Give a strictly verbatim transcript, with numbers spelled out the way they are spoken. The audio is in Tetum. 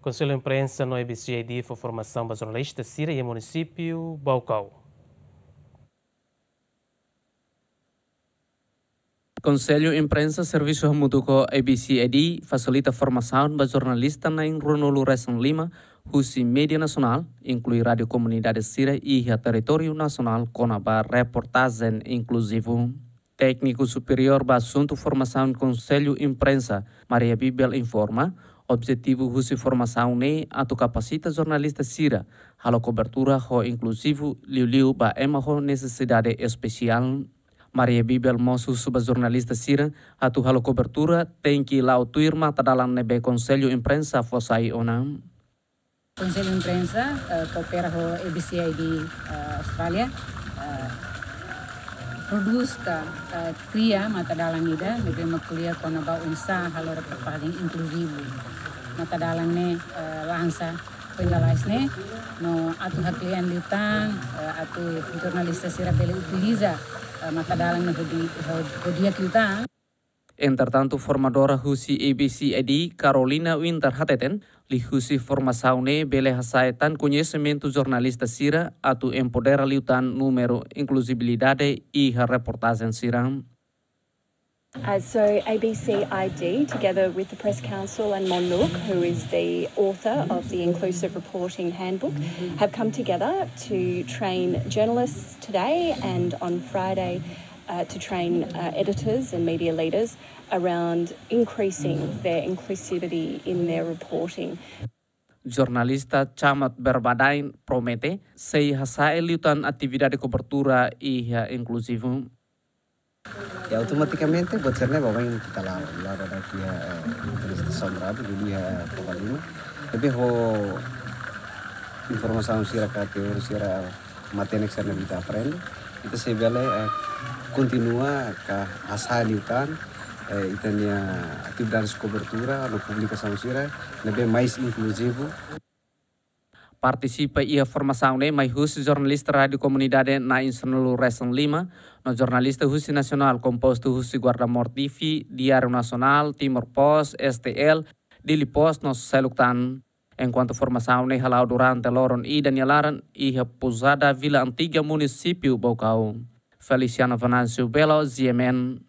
Konsellu Imprensa no A B C I D fó formasaun ba jornalista sira iha munisípiu Baucau. Konsellu Imprensa servisu hamutuk ho A B C I D fasilita formasaun ba jornalista na'in ruanulu resin lima husi média nasionál, inklui rádiu komunidade sira iha territóriu nasionál kona-ba reportajen inkluzivu. Tékniku superiór ba asuntu formasaun Konsellu Imprensa, Maria Bibel informa, objetivu husi formasaun ne'e atu kapasita jornalista sira halo kobertura ho inkluzivu, liuliu ba ema ho nesesidade espesiál. Maria Bibel mós husu ba jornalista sira atu halo kobertura tenke la'o tuir matadalan ne'ebé Konsellu Imprensa fó sai ona. Konsellu Imprensa, eh, koopera ho A B C I D, eh, Austrália, eh, prodús ka, eh, kria matadalan ida ne'ebé mak ko'alia kona-ba oinsá halo reportajen inkluzivu. Matadalan ne'e, eh, lansa foin lalais ne'e, no atu haklean liután, eh, atu jornalista sira bele utiliza, eh, matadalan ne'e ho di-, ho, ho di'ak liután. Entretantu, formadora husi A B C I D, Carolina Winter hateten, liuhusi formasaun ne'e bele hasa'e tan koñesimentu jornalista sira atu empodera liután númeru inkluzibilidade iha reportajen sira. Uh, so A B C I D, together with the Press Council and Mon Look, who is the author of the Inclusive Reporting Handbook, have come together to train journalists today and on Friday, uh, to train, uh, editors and media leaders around increasing their inclusivity in their reporting. Jornalista Chamat Berbadain promete sei hasa'e liután atividade kobertura iha inkluzivu. Ya, automatikamente buat sira-ne'e baibain ita la'o, la'o dadauk iha, eh, entrevista sombra, dulu iha, eh, Covalima. Tapi ho informasaun sira ka teori sira matenek sira-ne'ebé ita aprende, ita sei bele, eh, kontinua ka hasa'e liután, eh, ita-nia atividades kobertura no publikasaun sira ne'ebé mais inkluzivu. Partisipa iha formasaun ne'e mai husi jornalista rádiu komunidade na'in sanulu resin lima, no jornalista husi nasionál kompostu husi Guarda Mor T V, Diáriu Nasionál, Timor Post, S T L, Dili Post no seluk tan. Enkuantu formasaun ne'e hala'o durante loron ida nia laran iha Pousada Vila Antiga, munisípiu Baucau. Feliciano Venâncio Belo, G M N.